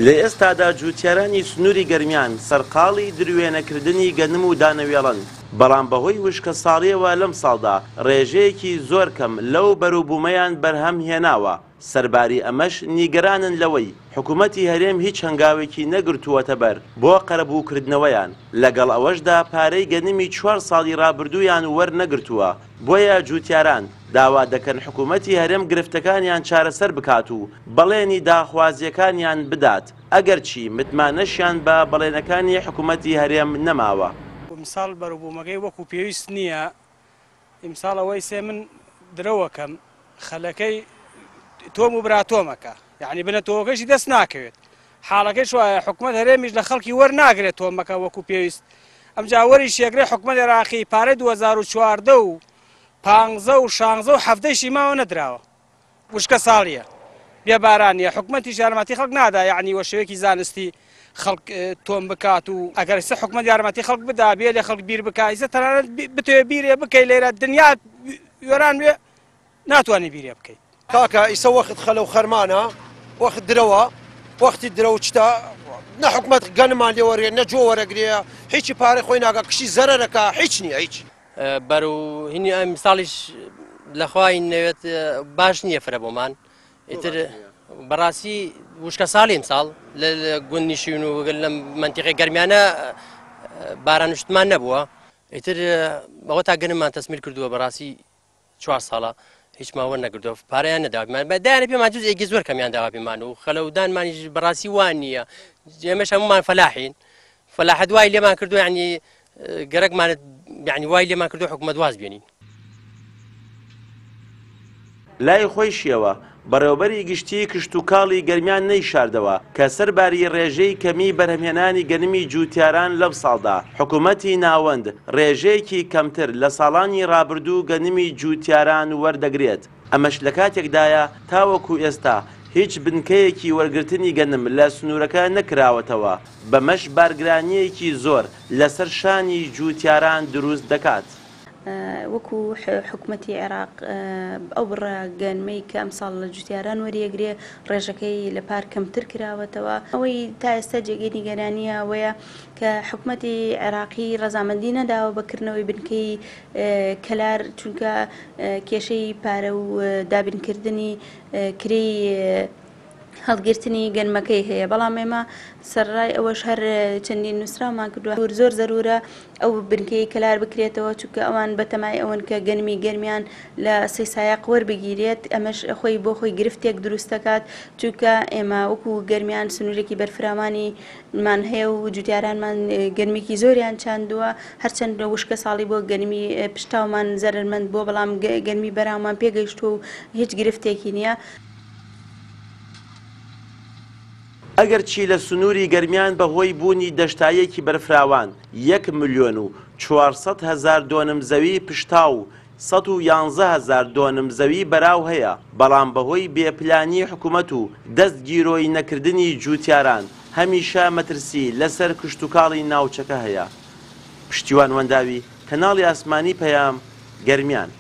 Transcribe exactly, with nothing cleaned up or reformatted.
لە ئێستادا جووتیارانی سنووری گەرمیان سەرقاڵی دروێنەکردنی گەنم و دانەوێڵن، بەڵام بەهۆی وشکە ساڵیەوە لەم ساڵدا ڕێژەیەکی زۆر کەم لەو بەروبوومەیان بەرهەم هێناوە. سەرباری ئەمەش نیگەرانن لەوەی حکوومەتی هەرێم هیچ هەنگاوێکی نەگرتووەتە بەر بۆ قەرەبووکردنەوەیان، لەگەڵ ئەوەشدا پارەی گەنمی چوار ساڵی ڕابردوویان وەرنەگرتووە. بۆیە جووتیاران داوا دەکەن حکوومەتی هەرێم گرفتەکانیان چارەسەر بکات و بەڵێنی داخوازیەکانیان بدات، ئەگەرچی متمانەشیان بە بەڵێنەکانی حکوومەتی هەرێم نەماوە. ئیمساڵ بەروبوومەکەی وەکو پێویست نییە. ئیمساڵ ئەوەی سێ من درەوەکەم خەلەکەی تۆم و براتۆمەکە، یعنی بنە تۆوەکەشی دەست ناکەوێت. حاڵەکەی وایە حکوومەت هەرێمیش لە خەڵکی وەرناگرێت تۆمەکە وەکو پێویست. ئەمجا وەریش یەکرێ حکوومەت عێراقی پارەی دوو هەزار و چواردە و پانزە و شانزە و حەفتەیشی ماوە نەدراوە. وشکە ساڵیە، بێبارانیە، حکوومەتیش یارمەتی خەڵک نادا، یعنی وە شێوەیەکی زانستی خەڵک تۆم بکات و ئەگەر ئێستا حکوومەت یارمەتی خەڵک بدا بێ لێ خەڵک بیر بکا، ئێستا تەنانەت بتەوێ بیرێ بکەی لێرە دنیا وێران بێ ناتوانێ بیرێ بکەیت. کاکە ئیسە وەخت خەلە و خەرمانە، وەخت درەوە، وەختی درەوە چتا نە حکوومەت گەنمان لێوەرێ نە جۆ وەرەگرێ، هیچی پارەی خۆی ناگا، کشی زەرەرەکە هیچ نییە هیچ. بەرەو هینی ئەم ساڵیش لەخوای نەوێت باش نییە فرە بۆمان. ئیتر بەڕاستی وشکە ساڵی ئەمساڵ لە گوندنشین و لە مەنتیقەی گەرمیانە بارانشتمان نەبووە. ئیتر ئەوە تا گەنممان تەسمیل کردووە بەڕاستی چوار ساڵە هیچ ماوە نەگردووە، پارەیان نەداوە پێمان، دایانە پێمان جزئێکی زۆر کەمیان داوا پێمان و خەلەودانمانیش بەڕاستی وان نییە. ئێمەش هەمومان فەلاحین، فەلاحەت وای لێمان کردووە، یعنی گەرەکمانت یعنی وای لێمان کردووە حکوومەت واز بێنین. لای خۆیشیەوە بەڕێوەبەری گشتی کشتوکاڵی گەرمیان نەیشاردەوە کە سەرباری ڕێژەی کەمی بەرهەمهێنانی گەنمی جووتیاران لەم ساڵدا حکوومەتی ناوەند ڕێژەیەکی کەمتر لە ساڵانی ڕابردوو گەنمی جووتیاران وەردەگرێت. ئەمەش لە کاتێکدایە تاوەکو ئێستا هیچ بنکەیەکی وەرگرتنی گەنم لە سنوورەکە نەکراوەتەوە، بەمەش بارگرانیەکی زۆر لەسەر شانی جووتیاران دروست دەکات. وەکو حکوومەتی عێراق ئەو بڕە گەنمەی کە ئەمساڵ لە جوتیاران وەریەگرێ ڕێژەکەی لە پار کەمتر کراوەتەوە. ئەوەی تا ئێستا جێگەی نیگەرانیە ئەوەیە کە حکوومەتی عێراقی ڕەزامەندی نەداوە بەکردنەوەی بنکەی کەلار، چونکە کێشەی پارە و دابینکردنی کرێی هەڵگرتنی گەنمەکەی هەیە. بەڵام ئێمە سەرڕای ئەوەش هەر چەندین نووسراومان کردووە. زۆر زەرورە ئەو بنکەی کەلار بکرێتەوە، چونکە ئەوان بەتەمای ئەوەن کە گەنمی گەرمیان لە سێ سایەق وەربگیرێت. ئەمەش خۆی بۆ خۆی گرفتێک دروست دەکات، چونکە ئێمە وەکو گەرمیان سنوورێکی بەرفراوانیمان هەیە و جوتیارانمان گەرمێکی زۆریان چاندووە. هەرچەند وشکە ساڵی بۆ گەنمی پشتاومان زەرەرمەند بووە، بەڵام گەنمی بەراومان پێگەیشتووە و هیچ گرفتێکی نییە. ئەگەرچی لە سنووری گەرمیان بەهۆی بوونی دەشتاییەکی بەرفراوان یەک ملیۆن و چوارسەد هەزار دۆنم زەوی پشتاو و سەد و یانزە هەزار دۆنم زەوی بەراو هەیە، بەڵام بەهۆی بێپلانی حکوومەت و دەست گیرۆی نەکردنی جووتیاران هەمیشە مەترسی لەسەر کشتوکاڵی ناوچەکە هەیە. پشتیوان وەنداوی، کەناڵی ئاسمانی پەیام، گەرمیان.